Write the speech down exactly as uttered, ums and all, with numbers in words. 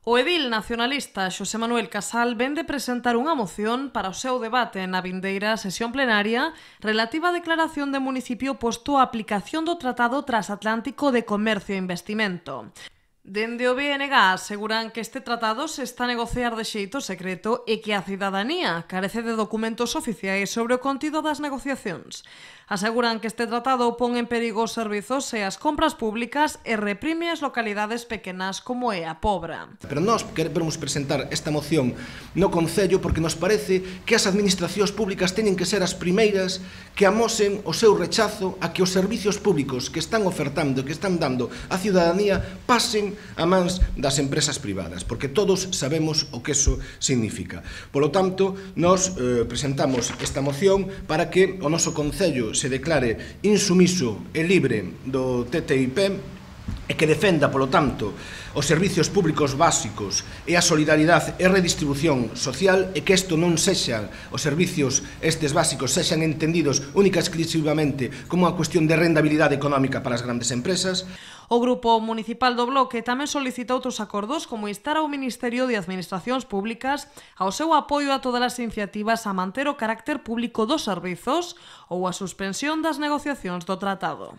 O edil nacionalista Xosé Manuel Casal vén de presentar unha moción para o seu debate na vindeira sesión plenaria relativa á declaración de municipio posto a aplicación do Tratado Transatlántico de Comercio e Investimento. Dende o B N G aseguran que este tratado se está a negociar de xeito secreto e que a cidadanía carece de documentos oficiais sobre o contido das negociacións. Aseguran que este tratado pon en perigo os servizos e as compras públicas e reprime as localidades pequenas como é a Pobra. Pero nós queremos presentar esta moción no Concello porque nos parece que as administracións públicas teñen que ser as primeiras que amosen o seu rechazo a que os servizos públicos que están ofertando, que están dando á cidadanía, pasen a mans das empresas privadas, porque todos sabemos o que eso significa. Polo tanto, nós eh, presentamos esta moción para que o noso Concello se declare insumiso e libre do T T I P e que defenda, polo tanto, os servizos públicos básicos e a solidaridade e redistribución social e que isto non sexan, os servizos estes básicos sexan entendidos única e exclusivamente como unha cuestión de rendabilidade económica para as grandes empresas. O Grupo Municipal do Bloque tamén solicita outros acordos como instar ao Ministerio de Administracións Públicas ao seu apoio a todas as iniciativas a manter o carácter público dos servizos ou a suspensión das negociacións do tratado.